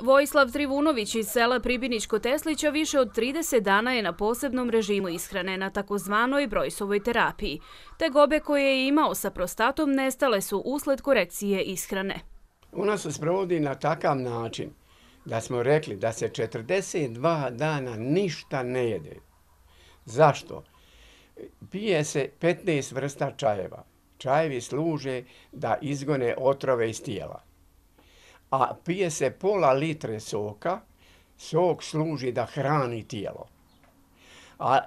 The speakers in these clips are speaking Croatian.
Vojislav Trivunović iz sela Pribinićko-Teslića više od 30 dana je na posebnom režimu ishrane, na takozvanoj Brojsovoj terapiji. Tegobe koje je imao sa prostatom nestale su usled korekcije ishrane. U nas se sprovodi na takav način da smo rekli da se 42 dana ništa ne jede. Zašto? Pije se 15 vrsta čajeva. Čajevi služe da izgone otrove iz tijela. A pije se pola litre soka, sok služi da hrani tijelo. A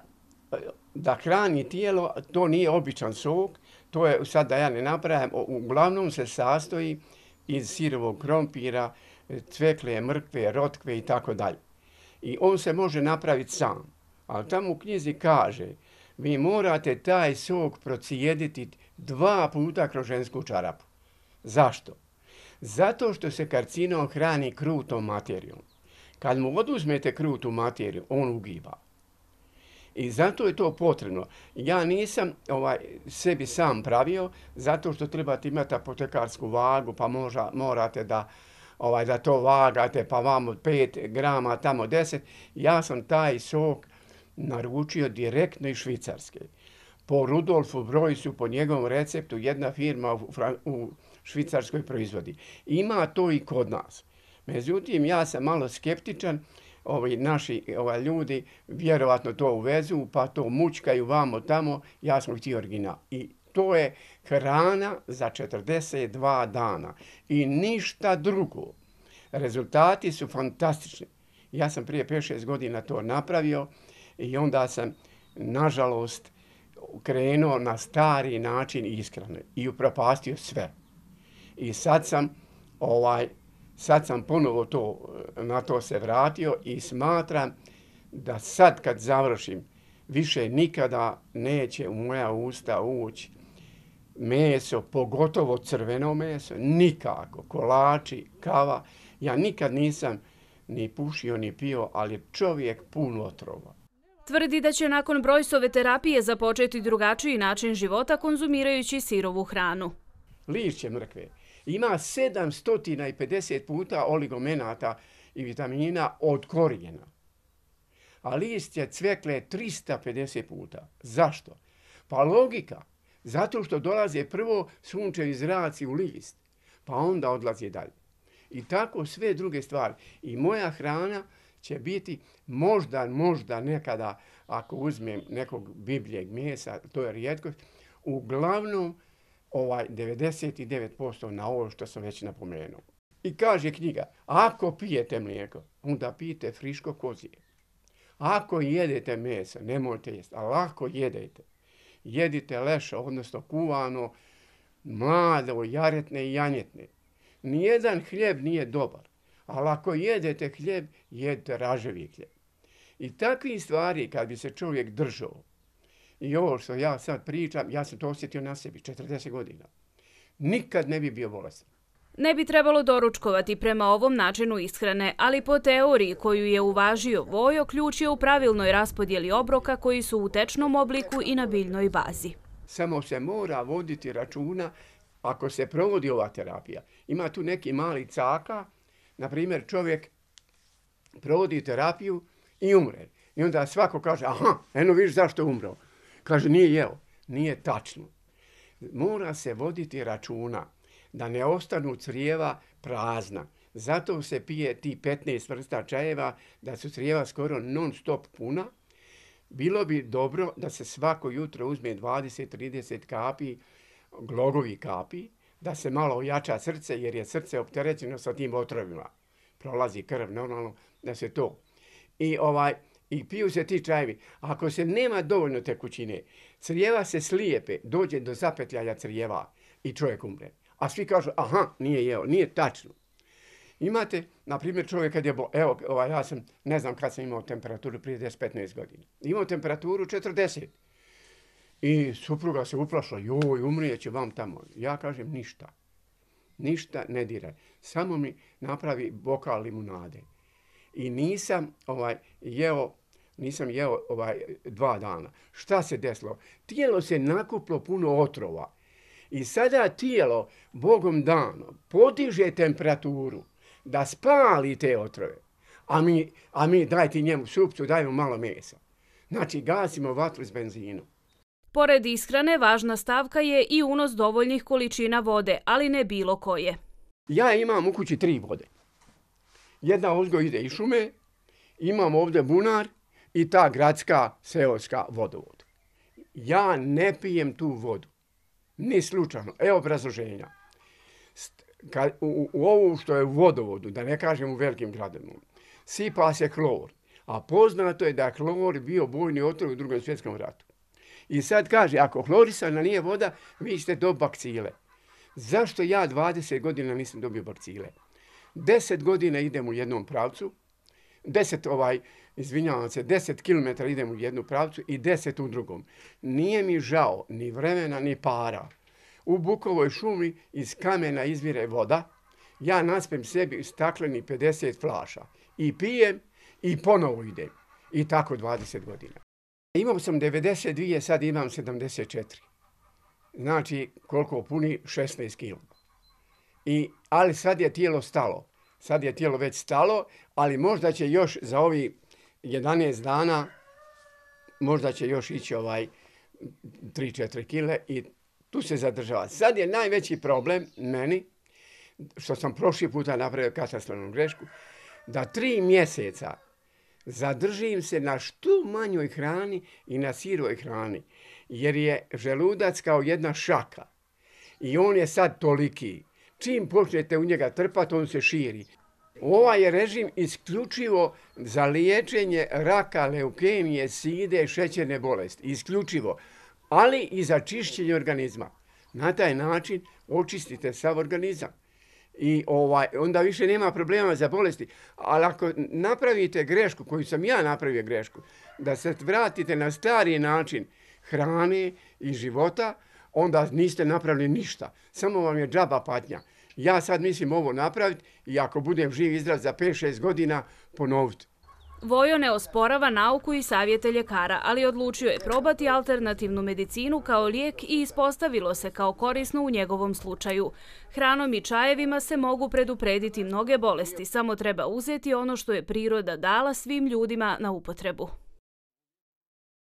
da hrani tijelo, to nije običan sok, to je, sad da ja ne napravim, uglavnom se sastoji iz sirovog krompira, cvekle, mrkve, rotkve i tako dalje. I on se može napraviti sam. Ali tamo u knjizi kaže, vi morate taj sok procijediti 2 puta kroz žensku čarapu. Zašto? Zato što se karcinom hrani krutom materijom. Kad mu oduzmete krutu materiju, on ugiba. I zato je to potrebno. Ja nisam sebi sam pravio, zato što trebate imati apotekarsku vagu, pa morate da to vagate, pa vamo 5 grama, tamo 10. Ja sam taj sok naručio direktno iz Švicarske. Po Rudolfu Brojsu, po njegovom receptu, jedna firma u Švicarskoj proizvodi. Ima to i kod nas. Međutim, ja sam malo skeptičan. Naši ljudi vjerovatno to uvezu, pa to mučkaju vamo tamo. Ja sam htio original. I to je hrana za 42 dana. I ništa drugo. Rezultati su fantastični. Ja sam prije 5-6 godina to napravio i onda sam, nažalost, krenuo na stari način ishrane i upropastio sve. I sad sam ponovo na to se vratio i smatram da sad kad završim, više nikada neće u moja usta ući meso, pogotovo crveno meso, nikako, kolači, kava. Ja nikad nisam ni pušio ni pio, ali je čovjek pun otrova. Tvrdi da će nakon Brojsove terapije započeti drugačiji način života konzumirajući sirovu hranu. Lišće mrkve ima 750 puta oligomenata i vitamina od korijena. A lišće cvekle 350 puta. Zašto? Pa logika. Zato što dolaze prvo sunčevi zraci u list, pa onda odlazi dalje. I tako sve druge stvari. I moja hrana će biti možda nekada, ako uzmem nekog bibljeg mesa, to je rijetkost, uglavnom 99% na ovo što sam već napomenuo. I kaže knjiga, ako pijete mlijeko, onda pijete friško kozije. Ako jedete meso, nemojte jesti, ali ako jedete, jedite leša, odnosno kuvano, mlado, jaretne i janjetne. Nijedan hljeb nije dobar, ali ako jedete hljeb, jedite raževi hljeb. I takvih stvari kad bi se čovjek držao, i ovo što ja sad pričam, ja sam to osjetio na sebi, 40 godina. Nikad ne bi bio bolestan. Ne bi trebalo doručkovati prema ovom načinu ishrane, ali po teoriji koju je uvažio Vojo, ključ je u pravilnoj raspodjeli obroka koji su u tečnom obliku i na biljnoj bazi. Samo se mora voditi računa ako se provodi ova terapija. Ima tu neki mali caka, na primjer čovjek provodi terapiju i umre. I onda svako kaže, aha, eno vidiš zašto je umro. Kaže, nije jeo. Nije tačno. Mora se voditi računa da ne ostanu crijeva prazna. Zato se pije ti 15 vrsta čajeva, da su crijeva skoro non stop puna. Bilo bi dobro da se svako jutro uzme 20-30 kapi, glogovi kapi, da se malo ojača srce, jer je srce opterećeno sa tim otrovima. Prolazi krv, normalno, da se to. I piju se ti čajevi. Ako se nema dovoljno tekućine, crijeva se slijepe, dođe do zapetljaja crijeva i čovjek umre. A svi kažu, aha, nije jeo, nije tačno. Imate, na primjer, čovjek kad je ja sam, ne znam kad sam imao temperaturu prije 10-15 godina. Imao temperaturu 40. I supruga se uplašila, joj, umrijeće vam tamo. Ja kažem, ništa ne diraj. Samo mi napravi bokal limunade. I nisam jeo 2 dana. Šta se desilo? Tijelo se nakuplo puno otrova. I sada tijelo, Bogom dano, podiže temperaturu. da spali te otrove. A mi dajte njemu supcu, dajmo malo mesa. Znači, gasimo vatru s benzinom. Pored ishrane, važna stavka je i unos dovoljnih količina vode, ali ne bilo koje. Ja imam u kući 3 vode. Jedna ozgo ide iz šume, imam ovdje bunar i ta gradska seoska vodovod. Ja ne pijem tu vodu. Ni slučajno. Evo obrazloženja. U ovu što je u vodovodu, da ne kažem u velikim gradovima, sipa se klor. A poznato je da je klor bio bojni otrov u Drugom svjetskom ratu. I sad kaže, ako hlorisana nije voda, vi ćete dobiti bakcile. Zašto ja 20 godina nisam dobio bakcile? 10 godina idem u jednom pravcu, 10 kilometara idem u jednu pravcu i 10 u drugom. Nije mi žao ni vremena ni para. U Bukovoj šumi iz kamena izvire voda, ja naspem sebi stakleni 50 flaša i pijem i ponovo idem. I tako 20 godina. Imao sam 92, sad imam 74. Znači, koliko puni? 16 kg. Ali sad je tijelo stalo. Sad je tijelo već stalo, ali možda će još za ovi 11 dana, možda će još ići 3-4 kile i tu se zadržava. Sad je najveći problem meni, što sam prošli puta napravio katastrofalnu grešku, da 3 mjeseca zadržim se na što manjoj hrani i na siroj hrani, jer je želudac kao jedna šaka i on je sad toliki. Čim počnete u njega trpati, on se širi. Ovaj je režim isključivo za liječenje raka, leukemije, side, šećerne bolesti. Isključivo. Ali i za čišćenje organizma. Na taj način očistite sav organizam. I onda više nema problema za bolesti. Ali ako napravite grešku, koju sam ja napravio grešku, da se vratite na stari način hrane i života, onda niste napravili ništa. Samo vam je džaba patnja. Ja sad mislim ovo napraviti i ako budem živ i zdrav za 5-6 godina ponoviti. Vojo ne osporava nauku i savjete ljekara, ali odlučio je probati alternativnu medicinu kao lijek i ispostavilo se kao korisno u njegovom slučaju. Hranom i čajevima se mogu preduprediti mnoge bolesti, samo treba uzeti ono što je priroda dala svim ljudima na upotrebu.